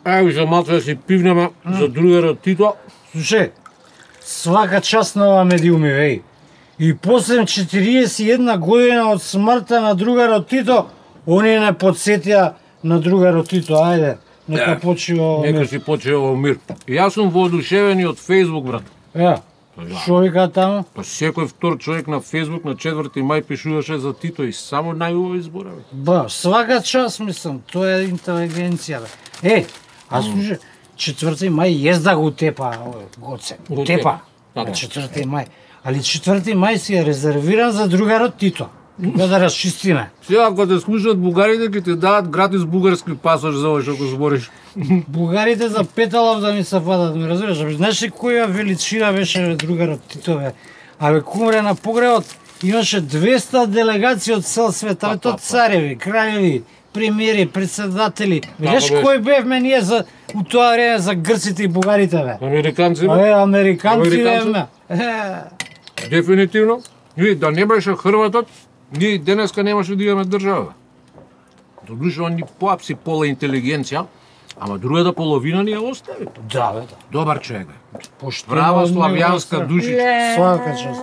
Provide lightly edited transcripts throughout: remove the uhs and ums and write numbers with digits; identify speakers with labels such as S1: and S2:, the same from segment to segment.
S1: Ај, за малку да си пивнеме за другарот Тито.
S2: Слушај, свака част на ова медиуми, веј. И после 41 година од смртта на другарот Тито, они не подсетија на другарот Тито. Ајде, нека почива
S1: Нека
S2: мир.
S1: си почива во мир. Јас сум воодушевен и од Facebook, брат.
S2: Шо вика таму?
S1: Па секој втор човек на Facebook на 4 мај пишуваше за Тито и само најубави зборови.
S2: Свака част, мислам, тоа е интелигенција, бе. А слушај, 4 мај езда го тепа, Гоце. Го тепа.
S1: Така.
S2: 4 мај. Али 4 мај си е резервиран за другарот Тито. Кога да расчистиме.
S1: Сега кога те слушаат бугарите ќе ти дадат гратис бугарски пасош за ова што го збориш.
S2: Бугарите за петалов да ми се падат, ме разбираш? Знаеш ли која величина беше другарот Тито, бе? Абе, кумре на погребот имаше 200 делегации од цел свет, абе, то цареви, краљеви, премиери, председатели. Видиш кој бевме ние за у тоа време за грците и бугарите, бе?
S1: Американци, бе?
S2: Абе, американци бевме.
S1: Дефинитивно. И да не беше Хрватот, ние денеска немаше да имаме држава. Додуша ни поапси пола интелигенција, ама другата половина ни ја остави.
S2: Да, бе, да.
S1: Добар човек, бе.
S2: Поштено
S1: Права
S2: од
S1: славјанска
S2: него,
S1: душица.
S2: Свака част.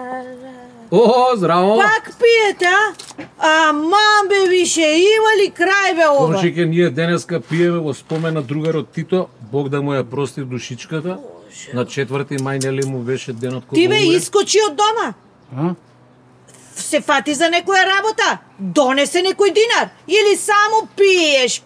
S1: О, здраво!
S3: Пак пиете, а? Аман бе више, има ли крај бе ова?
S1: Комшике, ние денеска пиеме во спомен на другарот Тито, Бог да му ја прости душичката. На 4 мај нели му беше денот кога
S3: Ти бе
S1: умре?
S3: искочи од дома.
S2: А?
S3: Се фати за некоја работа. Донесе некој динар. Или само пиеш.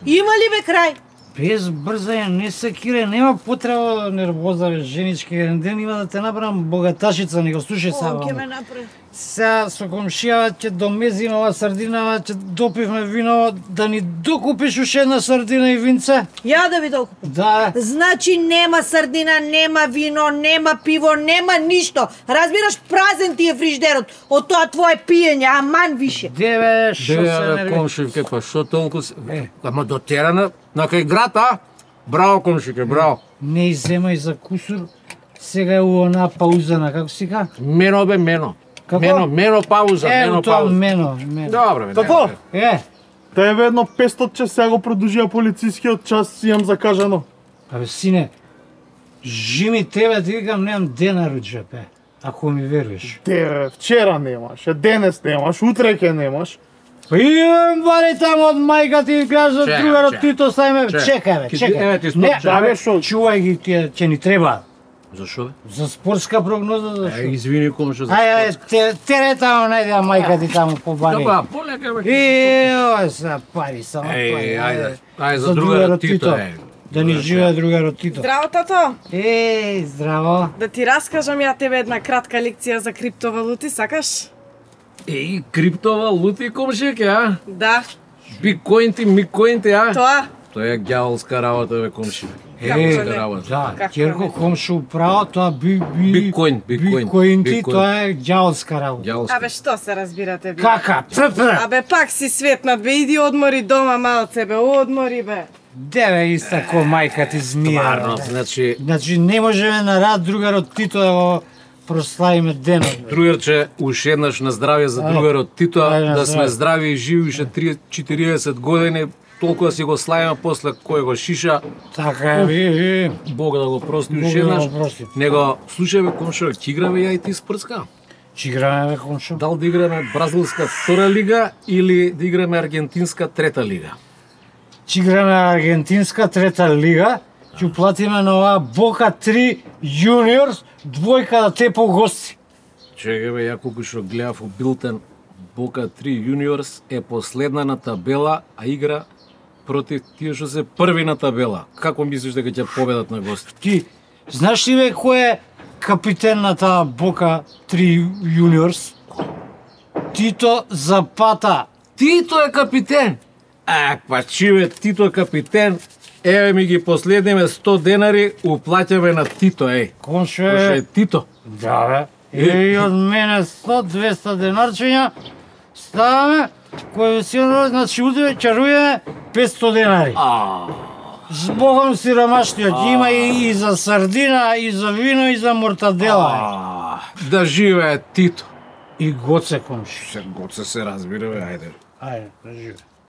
S3: Има ли бе крај?
S2: Без брзање, не се кире, нема потреба нервоза, бе, женички, еден ден има да те направам богаташица, не го слушај сега.
S3: Ќе ме направи.
S2: Сега со комшијава ќе домезиме ова сардинава, ќе допивме вино, да ни докупиш уште една сардина и винце.
S3: Ја да ви докупам.
S2: Да,
S3: Значи нема сардина, нема вино, нема пиво, нема ништо. Разбираш, празен ти е фриждерот од тоа твое пиење, аман више.
S2: деве, шо се
S1: Деве,
S2: нерви.
S1: комшивке, па шо толку се... Ама дотерана на кај град, а? Браво, комшивке, браво.
S2: Не иземај за кусур, сега е у она паузана, како си ка?
S1: Мено бе, мено.
S2: Како?
S1: Мено пауза, мено
S2: тоа
S1: пауза.
S2: мено.
S1: Добре, бе.
S4: Како?
S2: Е,
S4: Едно 500 час сега го продолжија полицискиот час, си имам закажано.
S2: абе, сине, жими тебе, ти викам, немам денар у джепе, ако ми веруваш.
S4: Вчера немаш, денес немаш, утре ќе немаш.
S2: Па имам бари таму од мајка ти кажа
S1: Чекај,
S2: другарот
S1: чекај.
S2: Тито, сајме, чекај бе,
S1: Еве
S2: чекај.
S1: ти стоп,
S2: Не,
S1: чекај.
S2: абе,
S4: Шо?
S2: чувај ги, ќе ни треба.
S1: Зашо бе?
S2: За спортска прогноза, за шо?
S1: Извини, комшо, за
S2: Ајде, тере таму, најде мајка ти таму по бари.
S1: Добра, полека бе.
S2: Ова са пари, само пари.
S1: Ајде, за другарот Тито,
S2: Да ни живее другарот Тито.
S5: Здраво, тато!
S2: Здраво.
S5: Да ти раскажам ја тебе една кратка лекција за криптовалути, сакаш?
S1: криптовалути, комшике, а?
S5: Да,
S1: Биткоинти, микоинти, а?
S5: тоа.
S1: Тоа е ѓаволска работа, бе, комши.
S5: Како
S1: Ѓаволска
S5: не?
S1: работа.
S2: Да,
S5: Како
S2: Ќерко
S5: не?
S2: комшу право, тоа
S1: Биткоин.
S2: биткоинти, тоа е ѓаволска работа.
S1: Ѓаволска.
S5: Абе, што се разбирате, бе?
S2: Кака?
S5: Абе, пак си светнат, бе, иди одмори дома малце, бе, одмори, бе.
S2: Деве иста ко мајка ти змија.
S1: Стварно,
S2: бе.
S1: значи,
S2: Значи не можеме на рад другарот Тито да го прославиме денот. бе.
S1: другарче, уште еднаш на здравје за другарот Тито,
S2: Ајде, на
S1: да сме
S2: здравје.
S1: здрави и живи уште 40 години, толку да си го славиме после кој го шиша,
S2: Така е, ви.
S1: Бог да го прости
S2: Бог
S1: уште
S2: да го
S1: еднаш.
S2: прости.
S1: Него, слушај бе, комшо, ќе играме ја и ти спрцка?
S2: Че играме бе комшо?
S1: Дал да играме бразилска втора лига или да играме аргентинска трета лига?
S2: Че играме аргентинска трета лига, ќе уплатиме на оваа Бока 3 Juniors, двојка да те по гости.
S1: Чекај бе, ја колку што гледав у Билтен, Бока 3 Juniors е последна на табела, а игра против тие што се први на табела. Како мислиш дека ќе победат на гости?
S2: Ти, знаеш ли бе кој е капитен на таа Бока 3 Juniors? Тито Запата.
S1: Тито е капитен! Па чиве, Тито е капитен, еве ми ги последниме 100 денари, уплаќаме на Тито,
S2: Комшо
S1: Кој е
S2: е...
S1: Тито?
S2: Да бе. И од мене 100-200 денарчиња ставаме, кој си значи утре чарујаме 500 денари. Збогом сиромашниот, има и за сардина, и за вино, и за мортадела.
S1: Да живее Тито!
S2: И Гоце комши.
S1: Се разбира, бе, ајде.
S2: Ајде, да живее.